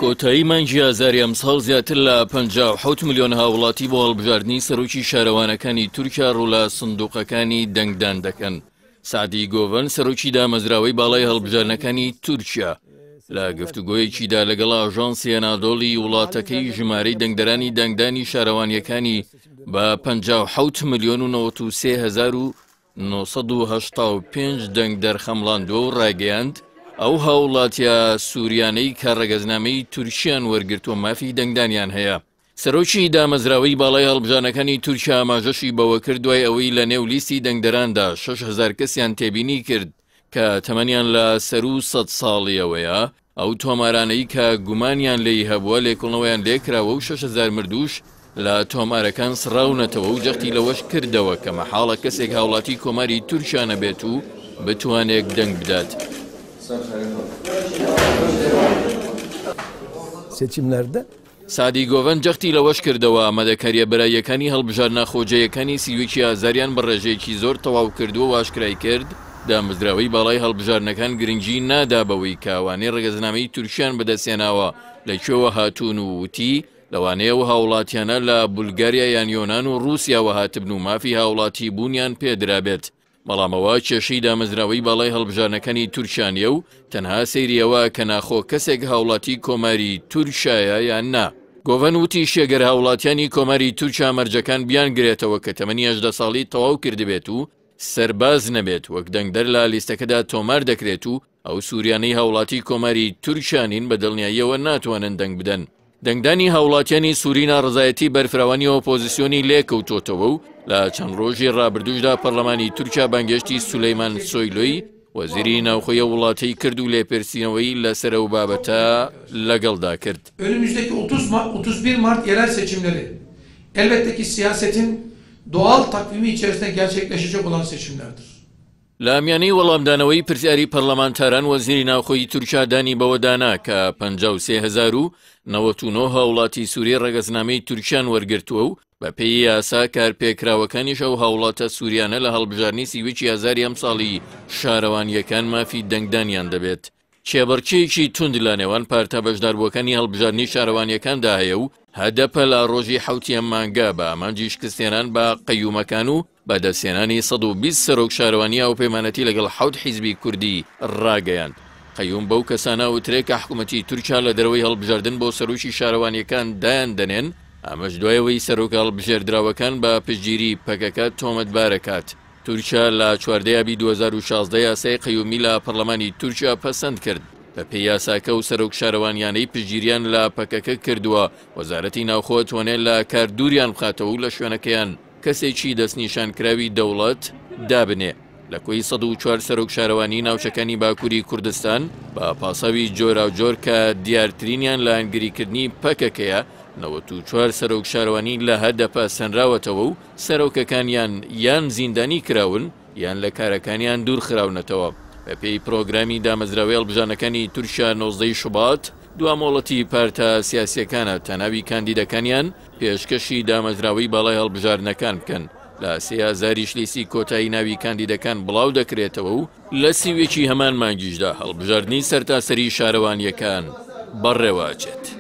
کۆتایی مانگی ئازاری ئەمساڵ زیاتر لە 57 ملیۆن هاوڵاتی بۆ هەڵبژاردنی سەرۆکی شارەوانەکانی تورکیا ڕوو لە سندوقەکانی دەنگدان دەکەن. سەعدی گۆڤەن سەرۆکی دامەزراوەی باڵای هەڵبژاردنەکانی تورکیا لە گفتوگۆیەکیدا لەگەڵ ئاژانسی ئەنادۆڵی وڵاتەکەی ژمارەی دەنگدەرانی دەنگدانی شارەوانیەکانی بە 57 ملیۆن و 93 هەزار و 985 دەنگدەر خەمڵاندووە و ڕایگەیاند ئەو هاوڵاتیە سوریانەی کە ڕەگەزنامەی تورکیان وەرگرتووە مافی دەنگدانیان هەیە. سەرۆکی دامەزراوەی باڵای هەڵبژاردنەکانی تورکیا ئاماژەشی بەوەکرد، دوای ئەوەی لە نێو لیستی دەنگدەراندا 6000 کەسیان تێبینی کرد کە تەمەنیان لە سەروو 100 ساڵیەوەیە، ئەو تۆمارانەی کە گومانیان لێی هەبووە لێکۆڵنەوەیان لێکراوە و 6000 مردووش لە تۆمارەکان سڕاونەتەوە و جەختی لەوەش کردەوە کە مەحاڵە کەسێک هاوڵاتی کۆماری تورکیا نەبێت و بتوانێک دەنگ بدات. Seçimlerde سەعدی گۆڤەن جەختی لەوەش کردەوە، ئامادەکارییە بەراییەکانی هەڵبژاردنە خۆجێیەکانی 31 ی ئازاریان بە ڕێژەیەکی زۆر تەواو کردووە و ئاشکرای کرد، دامەزراوەی باڵای هەڵبژاردنەکان گرنگی نادا بەوەی کە ئەوانەی ڕەگەزنامەی تورکیان بەدەستهێناوە لە کوێوە هاتوون و وتی، لەوانەیە ئەو هاوڵاتیانە لە بولگاریا یان یۆنان و ڕووسیاوە هاتبن و مافی هاوڵاتیبوونیان پێدرابێت. بەڵام ئەوە کێشەی دامەزراوەی باڵای هەڵبژاردنەکانی تورکیا نیە و تەنها سەیری ئەوە کە ناخۆ کەسێک هاوڵاتی کۆماری تورکیایە یان نا. گۆڤەن وتیشی گەر هاوڵاتیانی کۆماری تورکیا مەرجەکان بیانگرێتەوە کە تەمەنی 18 ساڵی تەواو کردبێت و سەرباز نەبێت وەک دەنگدەر لە لیستەکەدا تۆمار دەکرێت و ئەو سوریانەی هاوڵاتی کۆماری تورکیا نین بە دڵنیاییەوە ناتوانن دەنگ بدەن. دەنگدانی هاوڵاتیانی سوری ناڕەزایەتی بەرفراوانی ئۆپۆزیسیۆنی لێکەوتۆتەوە و لە چەند ڕۆژی ڕابردووشدا پەرلەمانی تورکیا بانگێشتی سولەیمان سۆیلۆی وەزیری ناوخۆی ئەو وڵاتەی کرد و لێپرسینەوەی لەسەر ئەو بابەتە لەگەڵدا کرد. Önümüzdeki 30 Mart, 31 Mart yerel seçimleri elbette ki siyasetin doğal takvimi içerisinde gerçekleşecek olan seçimlerdir. لە میانەی وەڵامدانەوەی پرسیاری پەرلەمانتاران وەزیری ناوخۆی تورکیا دانی بەوەدا نا کە 53,099 هاوڵاتی سووری ڕەگەزنامەی تورکیان وەرگرتووە و بەپێی یاسا کارپێکراوەکانیش ئەو هاوڵاتە سووریانە لە هەڵبژاردنی 31 ئازاری ئەمساڵی شارەوانییەکان مافی دەنگدانیان دەبێت. کێبڕکێیەکی توند لە نێوان پارتە بەشداربووەکانی هەڵبژاردنی شارەوانییەکاندا هەیە و هەدەپە لە ڕۆژی حەوتی ئەم مانگە بە ئامانجی شکستهێنان بە قەیومەکان و بەدەستهێنانی 120 سەرۆک شارەوانی هاوپەیمانەتی لەگەڵ حەوت حیزبی کوردی ڕاگەیاند. قەیوم بەو کەسانە ئەوترێ کە حکومەتی تورکیا لە دەرەوەی هەڵبژاردن بۆ سەرۆکی شارەوانییەکان دایان دەنێن، ئەمەش دوای ئەوەی سەرۆکە هەڵبژێردراوەکان بە پشتگیری پەکەکە تۆمەتبارەکات. تورکیا لە 14 ئابی 2016 یاسای قەیومی لە پەرلەمانی تورکیا پەسەند کرد. بەپێی یاساکە و سەرۆک شارەوانیانەی پشتگیریان لە پەکەکە کردووە، وەزارەتی ناوخۆ توانێت لە کار دووریان بخاتەوە و لە شوێنەکەیان کەسێکی دەستنیشانکراوی دەوڵەت دابنێ. لە کۆی 104 سەرۆک شارەوانی ناوچەکانی باکووری کوردستان بە پاساوی جۆراوجۆر کە دیارترینیان لایەنگریکردنی پەکەکەیە، 94 سەرۆک شارەوانی لە هەدەپە سەنراوەتەوە و سەرۆکەکانیان یان زیندانی کراون یان لە کارەکانیان دوورخراونەتەوە. بەپێی پرۆگرامی دامەزراوەی هەڵبژاردنەکانی تورکیا 19 شوبات دوا مۆڵەتی پارتە سیاسییەکانە تا ناوی کاندیدەکانیان پێشکەشی دامەزراوەی باڵای هەڵبژاردنەکان بکەن. لە سێ ئازاریش لیستی کۆتایی ناوی کاندیدەکان بڵاو دەکرێتەوە و لە 31 هەمان مانگیشدا هەڵبژاردنی سەرتاسەری شارەوانییەکان بەڕێوە ئەچێت.